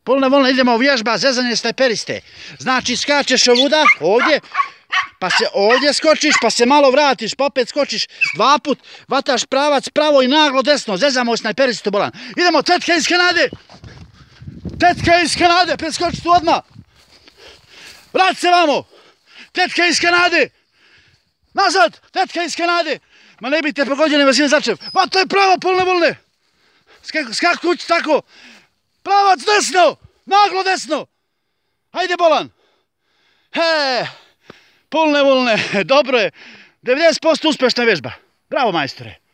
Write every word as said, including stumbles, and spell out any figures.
Polne volne, idemo vježba, zezanje snajperiste. Znači skačeš ovuda, ovdje, pa se ovdje skočiš, pa se malo vratiš, pa opet skočiš dva put, vataš pravac pravo i naglo desno, zezamo snajperistu bolan. Idemo, tetka iz Kanade! Tetka iz Kanade, preskoči tu odmah! Vrati se vamo! Tetka iz Kanade! Nazad! Tetka iz Kanade! Ma ne biti pogođeni vasine začev. Ma to je pravo polne volne! Skak kući tako! Pravac desno! Naglo desno! Hajde bolan! He! Polne volne, dobro je. devedeset posto uspješna vježba. Bravo majstore!